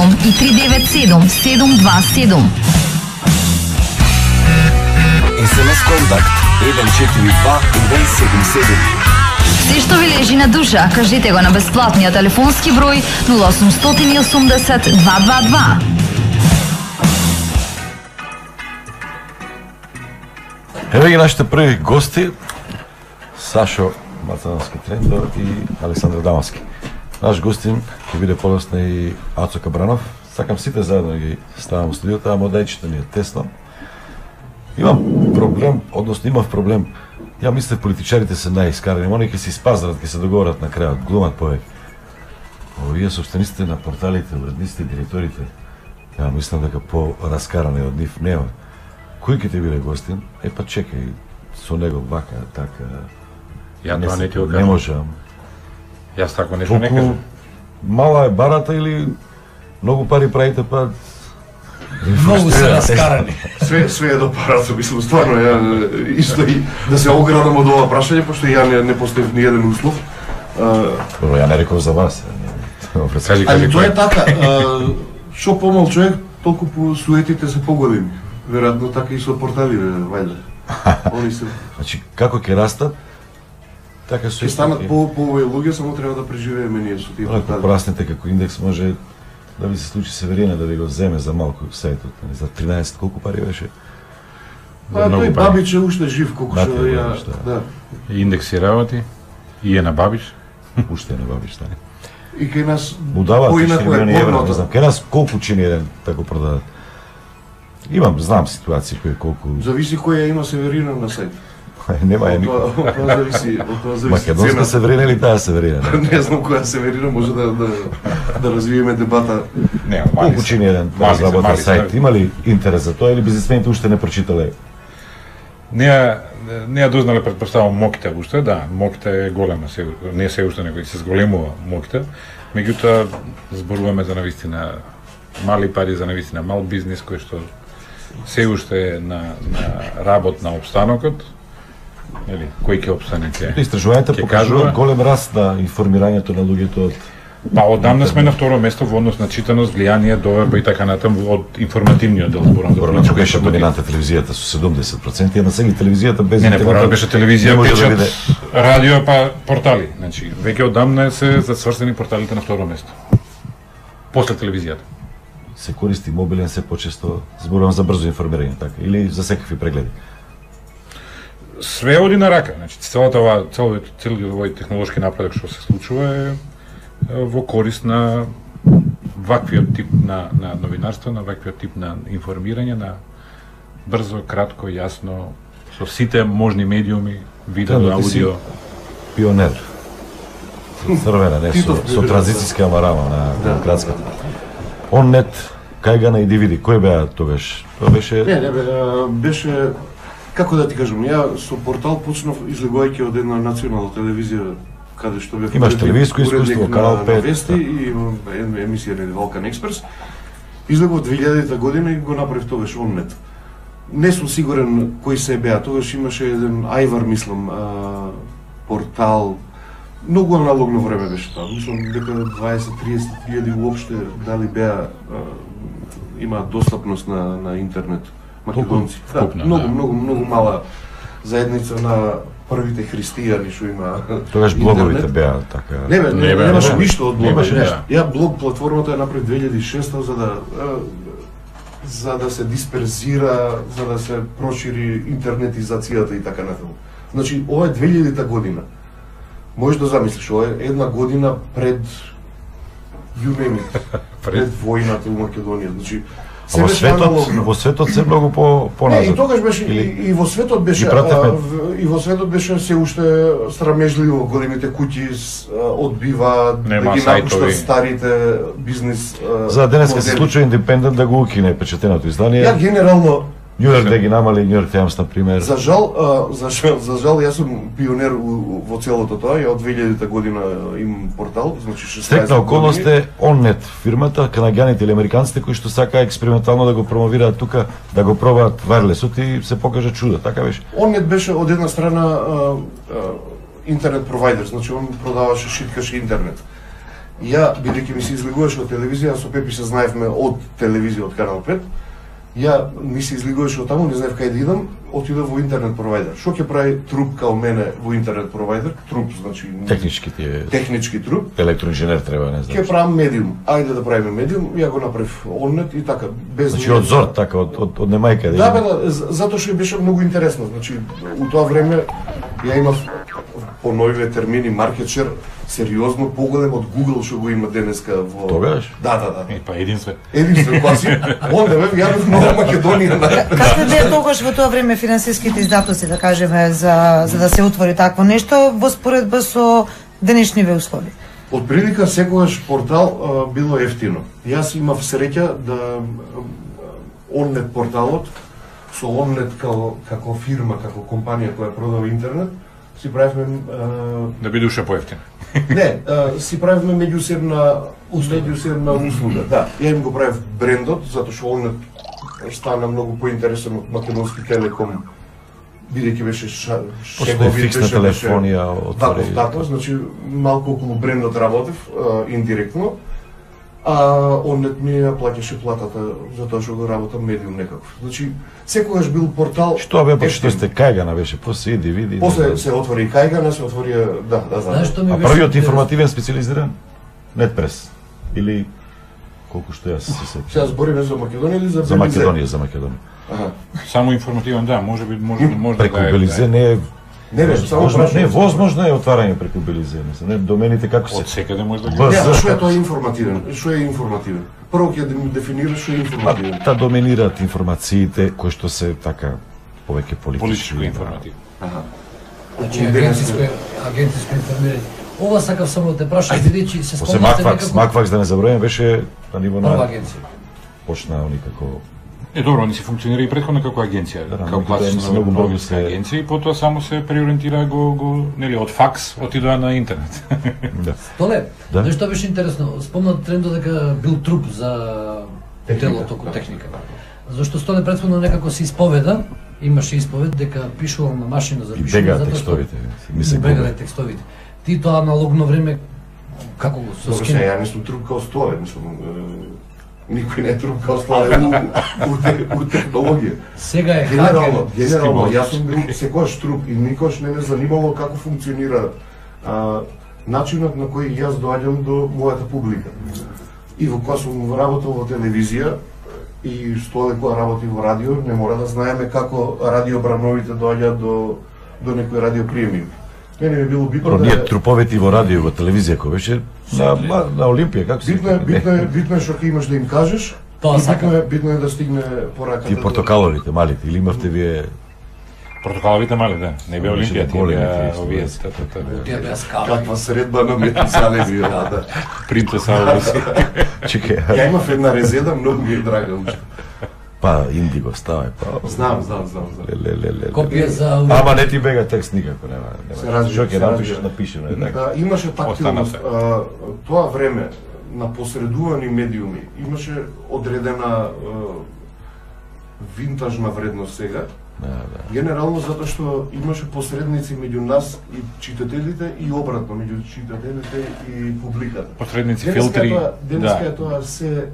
и 397-727. СМС контакт 142-177. Се што ви лежи на душа, кажете го на бесплатниот телефонски број 0880 222. Еве ги нашите први гости, Сашо Мацановски Трендо и Александар Дамовски. Наш гостин ќе биде подоцна и Ацо Кабранов. Сакам сите заедно да ги ставам во студиото, ама модајчето ни е тесно. Имам проблем, односно имав проблем. Ја мислев политичарите се најискарани, они ќе се испазарат, ќе се договорат на крајот, глумат повеќе. Овие собствениците на порталите, уредниците и директорите, ја мислам дека по-раскарани од нив нема. Кој ќе ти биде гостин? Па чекај, со него вака, така... Ја тоа не ти го кажам. Не можам. Јас тако нешто не кажам. Мала е барата или многу пари правите, па... Многу се раскарани. Све е до парата, мислам, стварно, ја исто и да се оградам од ова прашање, пошто ја не поставив ни еден услов. Добро, ја не реков за вас. Али тоа е така, шо помал човек, толку суетите се погодини. Веројатно така и со порталите, вајде. Они се... Значи, како ќе растат, така ќе станат по-овој луѓе, само треба да преживееме ние со тие портали. Порасните како индекс може да ви се случи Северина да ви го земе за малку сајтот, за 13 колку пари беше? Тој Бабич е уште жив, колку што ја... Да. Индекси работи, и е на Бабич. Уште е на Бабич, да. И кај нас... Му дават 4 милиони евра, не знам. Кај нас колку чини еден тако продадат? Знам ситуации кои колку... Зависи која има Северина на сајт. Нема е никој. Од тоа зависи Македонска Северина или таа Северина? Не знам која Северина, може да развиеме дебата. Колку чини еден разработен сајт? Има ли интерес за тоа или бизнисмените уште не прочитале? Не ја дознале, предпоставам, Мокита уште, да, Мокита е голема, не се уште него и се зголемува Мокита, меѓутоа зборуваме за навистина мали пари, за навистина мал бизнис кој што се уште е на работ на обстанокот, кој ќе обстане ќе. Истражувањата покажуваат голем раст на информирањето на луѓето од... Па одамна сме на второ место во однос на читаност, влијание, доверба и така натаму од информативниот дел, зборам за политика. Беше доминанта телевизијата со 70%, а на сега телевизијата без интернет. Не, порано беше телевизија, печат, радио, па портали. Значи, веќе одамна се засврстени порталите на второ место. После телевизијата. Се користи мобилен се почесто, зборувам за брзо информирање, така, или за секакви прегледи? Све оди на рака, значи целиот овој технолошки напредок што се случува е во корист на ваквиот тип на новинарство, на ваквиот тип на информирање, на брзо, кратко, јасно, со сите можни медиуми, видео, аудио. Пионер. Црвена, не со транзицијска амарама на демократската. Оннет, Кајгана и DVD, кој беа тогаш? Тоа беше... Не, беше... Како да ти кажам, ја со портал почнав излегувајќи од една национална телевизија каде што бев имаш телевизиско искуство, Канал 5 на вести и емисија на Балкан Експрес. Излегов 2000 година и го направив тогаш Оннет. Не сум сигурен кои се беа, тогаш имаше еден Ајвар, мислам, портал. Многу аналогно време беше тоа. Мислам дека 20-30 хиljadi уопште дали беа имаат достапност на интернет. Македонци. Да, многу мала заедница на првите христијани што има. Тогаш блоговите беа така. Немаше ништо од блог. Ја блог платформата ја направив 2006 за да се дисперзира, за да се прошири интернетизацијата и така натаму. Значи, ова е 2000-та година. Можеш да замислиш, ова е една година пред пред војната во Македонија. Значи, во светот се многу поназад. И тогаш беше и во светот беше се уште срамежливо, големите куќи одбиваат да ги напуштат старите бизнис. За денеска се случува Индепендент да го укине печатеното издание. Ја генерално Њујорк да ги намали, Њујорк Тајмс, например. За жал, јас сум пионер во целото тоа, ја од 2000-та година имам портал, значи 16 Стекна околност е Оннет фирмата, канаѓаните или американците кои што сака експериментално да го промовираат тука, да го пробаат вајрлесот и се покажа чудо, така беше. Оннет беше од една страна интернет провайдер, значи он продаваше, шиткаше интернет. И ја, бидејќи ми се излегуваше од телевизија, со Пепи се знаевме од телевизија, од Канал 5, ја ми се излегуваше од таму, не знаев кај да идам, отидов во интернет провайдер. Што ќе прави труп као мене во интернет провайдер? Труп, значи... Технички труп. Електроинженер треба, не знам. Ќе правам медиум. Ајде да правиме медиум, ја го направив оннет и така, без... Значи од зор, така, од немајка. Да, бе, затоа што беше многу интересно. Значи, у тоа време ја имав по новиве термини маркетшер, сериозно поголем од Google што го има денеска во... Тогаш? Да. Па единствен. Единствен, класи. Онда бе, јавив нова Македонија. Какви беа тогаш во тоа време финансиските издатоци, да кажеме, за да се отвори такво нешто во споредба со денешниве услови? Од прилика секогаш портал било ефтино. Јас имав среќа да Оннет порталот со Оннет како фирма, како компанија која продава интернет, си правевме да биде уште поевтин. Не, си правевме меѓусебна услуга. Да, ја им го правев брендот затоа што Оннет стана многу поинтересен од Македонски Телеком, бидејќи беше после фиксна телефонија отвори. Така, значи малку околу брендот работев индиректно. Оннет ми ја плаќаше платата за тоа што го работам медиум некаков. Значи, секогаш бил портал... Што бе, почто сте Кајгана беше, после иди, види... После се отвори и Кајгана, се отвори... Да, знам. А првиот информативен специализиран? Нетпрес? Или... Колку што јас се сеќавам. Сега збориме за Македонија или за За Македонија. Само информативен, да, може преку Белизе не е... Не, само не, возможно е отварање преку Белизе, не, домените како се... Од секаде може да ги... Не, што е тоа информативен? Што е информативен? Прво ќе дефинираш што е информативен. Та доминираат информациите кои што се така повеќе политичко информативно. Значи агентиско информирање. Ова сакав само да те прашам, бидејќи се После спомнате Макфакс да не забравам беше на ниво на прва агенција. почна никако. Добро, они се функционира и претходно како агенција, како класична новинска агенција и потоа само се преориентира нели од факс отидоа на интернет. Да. Толе, Да. нешто беше интересно. Спомнат трендот дека бил труп за телото како техника. Зашто Столе претходно некако се исповеда, имаше исповед дека пишувал на машина за пишување бега текстовите. Бега текстовите. Ти тоа аналогно време како го со скин? Ја не сум труп као Столе, никој не е труп као Столе у технологија. Сега е генерално, јас сум бил секојаш труп и никош не ме занимало како функционира начинот на кој јас доаѓам до мојата публика. И во кога сум работел во телевизија и Столе кога работи во радио, не мора да знаеме како радио Брановите доаѓаат до некој радиоприемник. Мене ми било битно ние труповите во радио, во телевизија кој беше на Олимпија, како се? Битно е што ќе имаш да им кажеш. Битно е да стигне пораката. Тие портокаловите малите, или имавте вие портокаловите мали, да. Не беа Олимпија, тие беа овие. Тие беа скали. Каква средба на метисале бија, да. Принцеса Ауруси. Чекај. Ја имав една резеда, многу ми е драга уште. Па, индиго ставај, па... Знам. Копија за... Ама не ти бега текст никако, нема. Што ќе напишеш, напишено е така. Имаше тактилност. Тоа време на посредувани медиуми имаше одредена винтажна вредност сега. Генерално затоа што имаше посредници меѓу нас и читателите и обратно меѓу читателите и публиката. Посредници, филтри, денеска е тоа се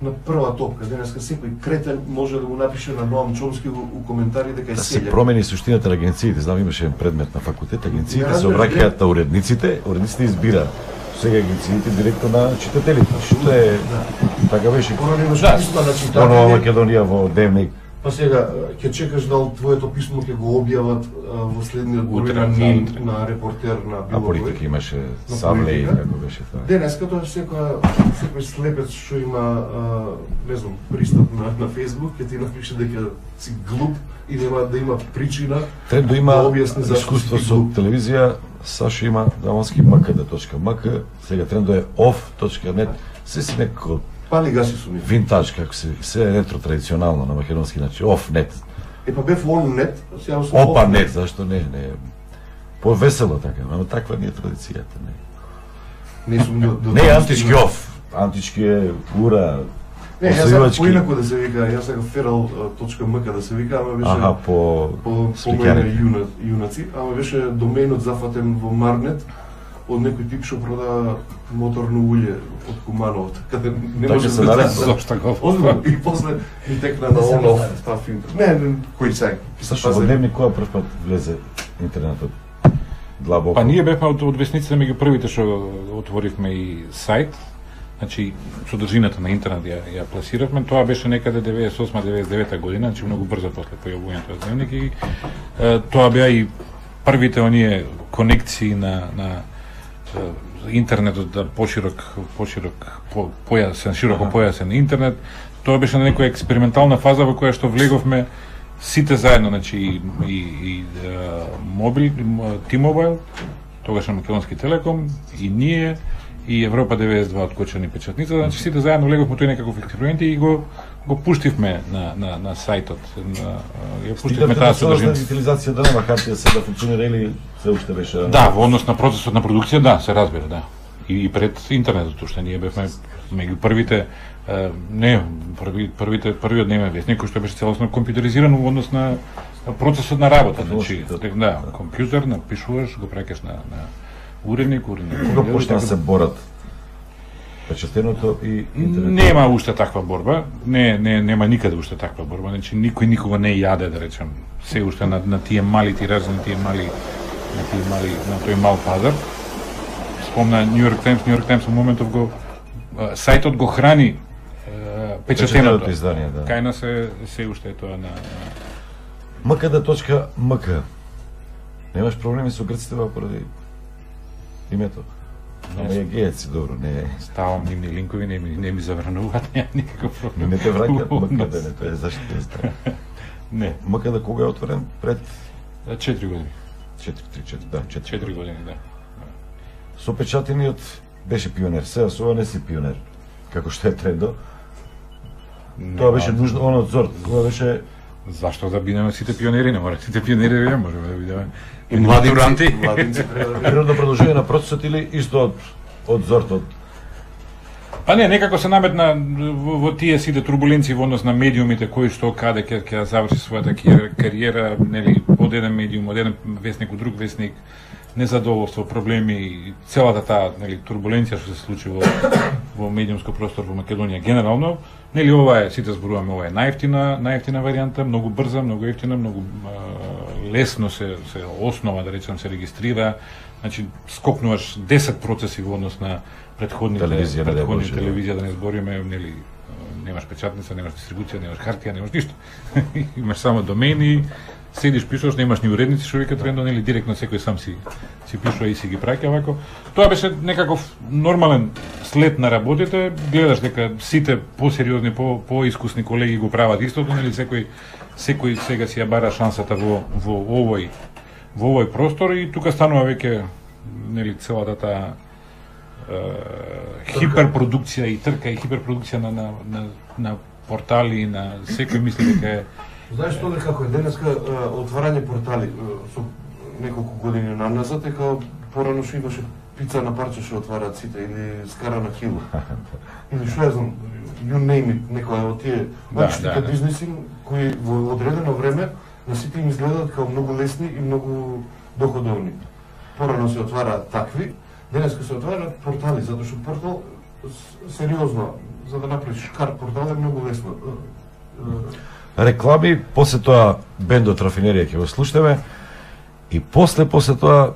на прва топка. Денеска секој кретен може да го напише на Ноам Чомски у коментари дека е селја. Да се промени суштината на агенциите. Знам, имаше предмет на факултет, агенциите се обраќаат на уредниците избираат. Сега агенциите директно на читателите. Што е така беше. Понова Македонија во Дневник. Па сега ќе чекаш дал твоето писмо ќе го објават во следниот број на НИН, на репортер на било кој. А политика имаше Савлеј, како беше тоа. Денеска тоа секој слепец што има не знам пристап на Facebook ќе ти напише дека си глуп и нема да има причина. Трендо има искуство со телевизија, Сашо има дамански mkd.mk, сега трендо е off.net, се си некако пали гаси сум. Винтаж, како се ретро традиционално на македонски, значи off.net. Па бев on.net, сега сум off.net, зашто не, повесело така, но таква не е традицијата, не. Не сум Не е антички off, антички е ура. Не, јас сакам поинаку да се вика, јас сакам feral.mk да се вика, ама беше по мој јунаци, ама беше доменот зафатен во Марнет од некој тип што прода моторно улје од Куманово, така да не Тоа може ќе се да нареди. Зошто го? Озбилно, и после ми текна на онов став интернет. Не, кој сега. Сашо, во дневник која прв пат влезе интернетот? Длабоко. Па ние бевме од весниците меѓу првите што отворивме и сајт. Значи, содржината на интернет ја пласиравме. Тоа беше некаде 98-99 година, значи многу брзо после појавувањето на дневник и тоа беа и првите оние конекции на интернетот да широко појасен интернет. Тоа беше на некоја експериментална фаза во која што влеговме сите заедно, значи и T-Mobile, тогаш на Македонски Телеком, и ние, и Европа 92 од Кочани печатница, значи сите заедно влеговме тој некаков експеримент и го пуштивме на сајтот. Ја пуштивме таа содржина. Дигитализација да нема хартија се да функционира или се уште беше? Да, во однос на процесот на продукција, да, се разбира, да. И пред интернетот, уште ние бевме меѓу првите првиот дневен весник кој што беше целосно компјутеризиран во однос на процесот на работа, значи да, компјутер напишуваш, го праќаш на уредник. Кога почна да се борат печатеното и интернет? Нема уште таква борба, нема никаде уште таква борба, значи никој никога не јаде, да речем, се уште на тие мали тиражи, на тој мал пазар. Спомна New York Times во моментов сајтот го храни печатеното издание, да. Кај нас се уште е тоа на mkd.mk. Немаш проблеми со грците поради името? Не е гејаци, добро, не е. Ставам нивни линкови, не ми забрануваат, нема никаков проблем. Не те враќаат МКД, не, тоа е зашто не знам. Не. МКД кога е отворен? Пред 4 години. 4 години, да. Со печатениот беше пионер, сега со ова не си пионер. Како што е трендо. Тоа беше нужно, он од Зорт, тоа беше... Зашто да бидеме сите пионери, не мора сите пионери да можеме да бидеме И младинци природно продолжение на процесот или исто од Зортот? Па не, некако се наметна во тие сите турбуленции во однос на медиумите, кои што каде ќе заврши својата кариера, нели, од еден медиум, од еден весник од друг весник, незадоволство, проблеми, целата таа, нели, турбуленција што се случи во медиумско простор во Македонија генерално, нели, ова е, сите зборуваме, ова е најефтина варијанта, многу брза, многу ефтина, многу лесно се основа, да речем, се регистрира, значи скокнуваш 10 процеси во однос на предходните телевизија, да не збориме, нели, немаш печатница, немаш дистрибуција, немаш хартија, немаш ништо. Имаш само домени, седиш, пишуваш, немаш ни уредници што викаат трендо, нели, директно секој сам си пишува и си ги праќа вако. Тоа беше некаков нормален след на работите, гледаш дека сите посериозни, поискусни колеги го прават истото, нели, секој сега си ја бара шансата во овој простор и тука станува веќе, нели, целата таа хиперпродукција и трка и хиперпродукција на портали, на секој мисли дека е. Знаеш што како е денеска отварање портали со неколку години назад, дека порано што имаше пица на парче што отвараат сите или скара на кило. Или што знам, you name it, некоја од тие мачките бизнеси кои во одредено време на сите им изгледаат како многу лесни и многу доходовни. Порано се отвараат такви, денеска се отвараат портали, затоа што портал сериозно за да направиш кар портал е многу лесно. Реклами, после тоа бендот Рафинерија ќе го слушнеме и после тоа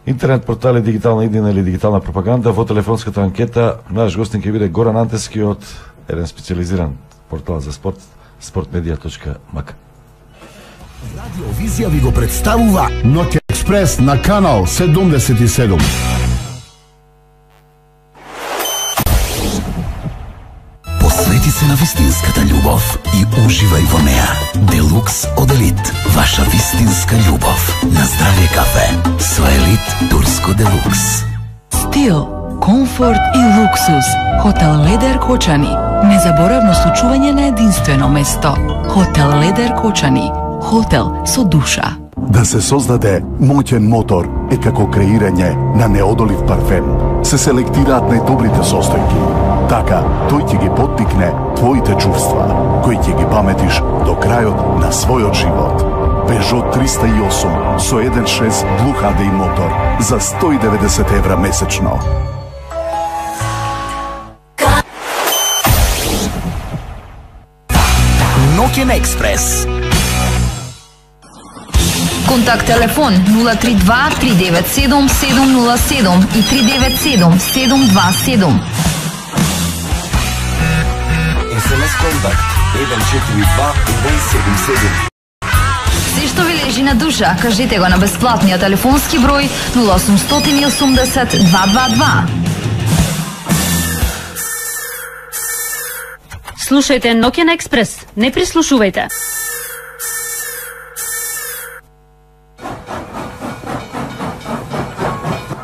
интернет портали, дигитална иднина или дигитална пропаганда. Во телефонската анкета наш гостин ќе биде Горан Антески од еден специализиран портал за спорт, sportmedia.mk. Радиовизија ви го представува Ноќ експрес на канал 77. Посвети се на вистинската љубов и уживај во неа. Делукс од Елит, ваша вистинска љубов. На здравје кафе со Елит Турско Делукс. Стил, комфорт и луксус. Хотел Ледер Кочани. Незаборавно случување на единствено место. Хотел Ледер Кочани. Хотел со душа. Да се создаде моќен мотор е како креирање на неодолив парфем. Се селектираат најдобрите состојки. Така, тој ќе ги поттикне твоите чувства, кои ќе ги паметиш до крајот на својот живот. Peugeot 308 со 1.6 Blue HDI мотор за 190 евра месечно. Ноќен експрес. Контакт телефон 032 397 707 и 397 727. СМС контакт 142 177. Се што ви лежи на душа, кажете го на бесплатниот телефонски број 0880 222. Слушајте Ноќен експрес, не прислушувајте.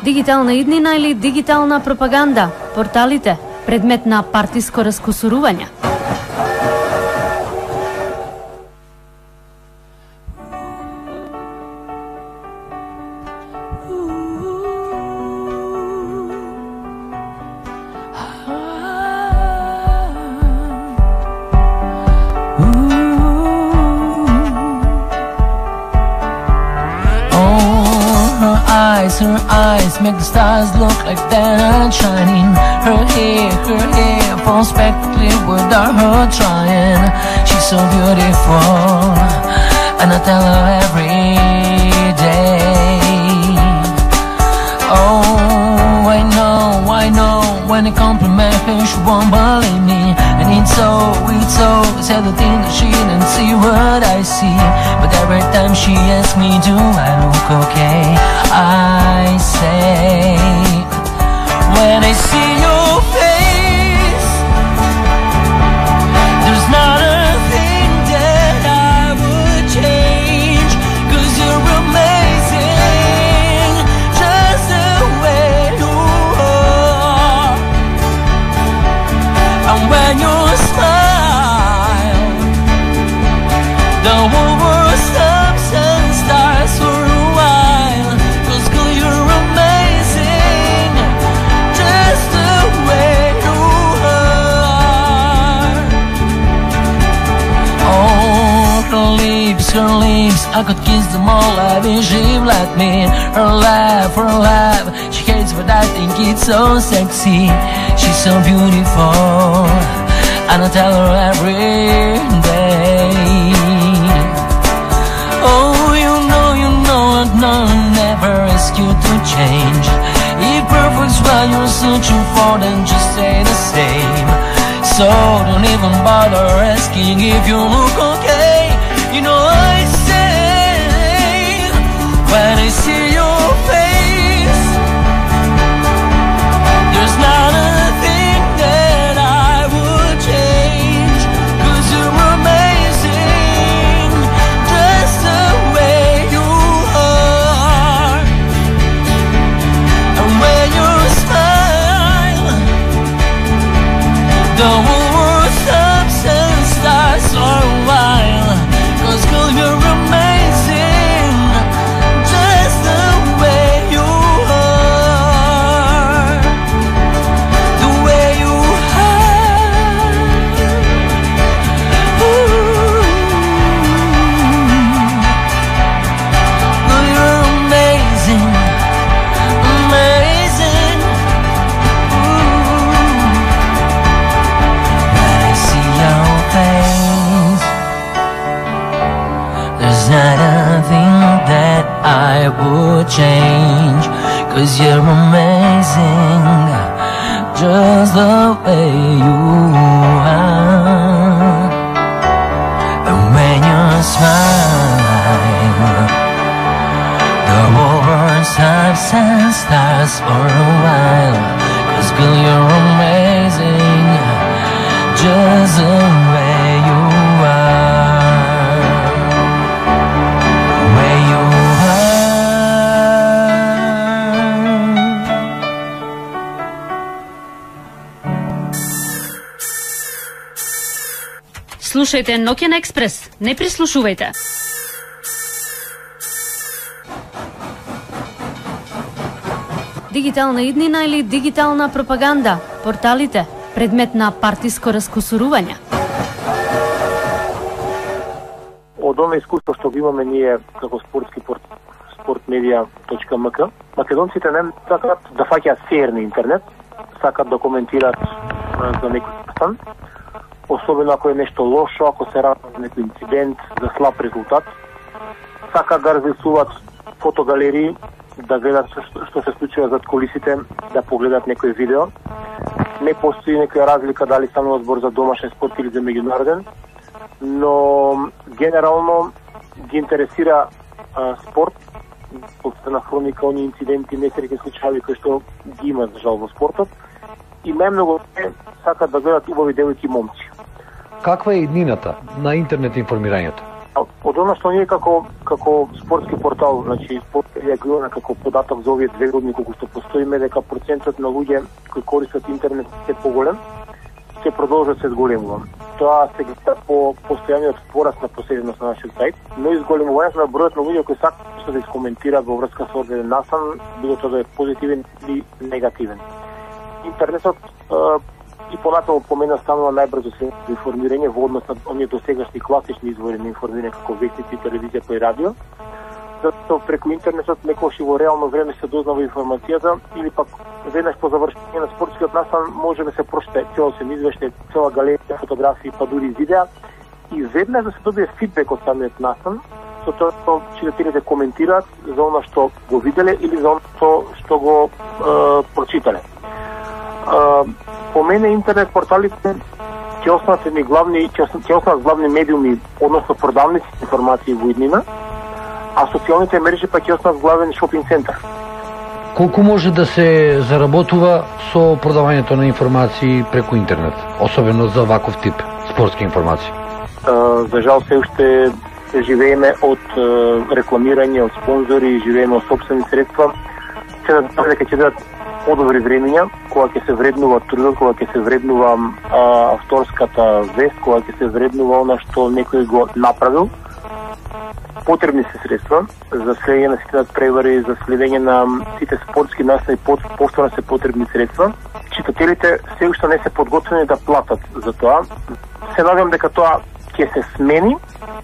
Дигитална иднина или дигитална пропаганда, порталите, предмет на партиско раскусурување. Her eyes make the stars look like they're not shining. Her hair falls back without her trying. She's so beautiful, and I tell her every day. Oh, I know, when I compliment her, she won't believe me. And it's so sad to think that she didn't see what I see. But every time she asks me, do I look okay? I say, when I see your face, there's not a thing that I would change. 'Cause you're amazing, just the way you are. And when you smile, the whole world stops and starts for a while. 'Cause girl, you're amazing, just the way you are. Oh, her lips, I could kiss them all. I wish she'd let me. Her laugh, she hates but I think it's so sexy. She's so beautiful, and I tell her every day. Oh, you know, I'd never ask you to change. If perfect's what you're searching for, then just stay the same. So don't even bother asking if you look okay. You know I say, when I see your face, there's not a thing that I would change. 'Cause you're amazing, just the way you are. And when you smile, the whole world stops and starts for a while. 'Cause girl, you're amazing, just the way you are. The way you are. Ooh. Girl, you're amazing, amazing. Ooh. When I see your face, there's not a thing that I would change. 'Cause you're amazing, just the way you are. And when you smile, the whole world stops and starts for a while. 'Cause girl, you're amazing, just the way you are. The way you are. Слушајте Ноќен експрес, не прислушувајте. Дигитална иднина или дигитална пропаганда, порталите, предмет на партиско раскусурување. од оно искуство што го имаме ние како sportmedia.mk, македонците не сакаат да фаќаат сеер на интернет, сакаат да коментираат за некој стан, особено ако е нешто лошо, ако се ради за некој инцидент, за слаб резултат, сакаат да разрисуваат фотогалерии, да гледат што се случува зад кулисите, да погледат некој видео. Не постои некоја разлика дали станува збор за домашен спорт или за меѓународен, но генерално ги интересира спорт, на хроника, они инциденти, несреќни случаи кои што ги има за жал во спортот, и најмногу сакаат да гледат убави девојки и момци. Каква е иднината на интернет информирањето? Од оно што ние како спортски портал, значи спорт реагираме како податок за овие 2 години колку што постоиме, дека процентот на луѓе кои користат интернет е поголем, ќе продолжат се зголемува. Тоа се гледа по постојаниот пораст на посетеност на нашиот сајт, но и зголемувањето на бројот на луѓе кои сакаат да искоментираат во врска со одреден настан, било тоа да е позитивен или негативен. Интернетот и понатаму помена станува најбрзо се информирање во однос на оние досегашни класични извори на информирање како вестници, телевизија и радио. Затоа преку интернетот некогаш и во реално време се дознава информацијата или пак веднаш по завршување на спортскиот настан може да се прочита целосен извештај, цела галерија фотографии, па дури видеа и веднаш да се добие фидбек од самиот настан, со тоа што читателите коментираат за она што го виделе или за она што го прочитале. По мене интернет порталите ќе останат главни медиуми, односно продавници информации во иднина, а социјалните мрежи пак ќе останат главен шопинг центар. Колку може да се заработува со продавањето на информации преку интернет, особено за ваков тип спортски информации? За жал се уште живееме од рекламирање, од спонзори, живееме од собствени средства. Се надевам дека ќе бидат подобри времења, кога ќе се вреднува трудот, кога ќе се вреднува авторската вест, кога ќе се вреднува она што некој го направил. Потребни се средства за следење на сите надпревари, за следење на сите спортски настани, постојано се потребни средства. Читателите се уште не се подготвени да платат за тоа. Се надевам дека тоа ќе се смени,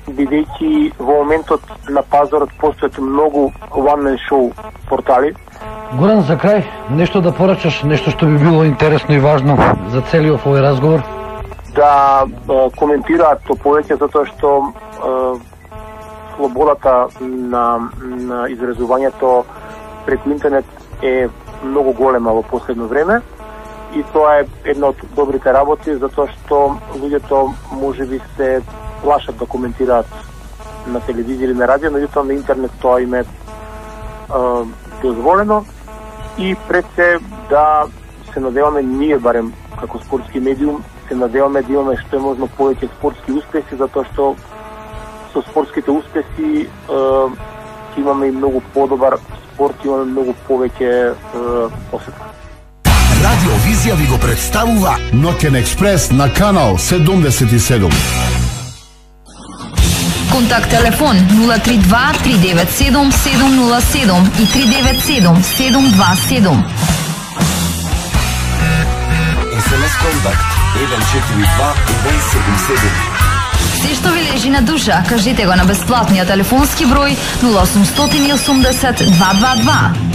бидејќи во моментот на пазарот постојат многу one-man show портали. Горан, за крај, нешто да порачаш, нешто што би било интересно и важно за целиот овој разговор? Да коментираат то повеќе, затоа што слободата на изразувањето преку интернет е многу голема во последно време и тоа е една од добрите работи, затоа што луѓето можеби се плашат да коментираат на телевизија или на радио, меѓутоа на интернет тоа им е дозволено и пред се да се надеваме ние барем како спортски медиум, се надеваме да имаме што е можно повеќе спортски успеси, затоа што со спортските успеси имаме и многу подобар спорт, имаме многу повеќе посета. Радиовизија ви го представува Ноќен експрес на канал 77. Контакт телефон 032 397 707 и 397 727. СМС контакт 142 177. Се што ви лежи на душа, кажете го на бесплатниот телефонски број 0880 222.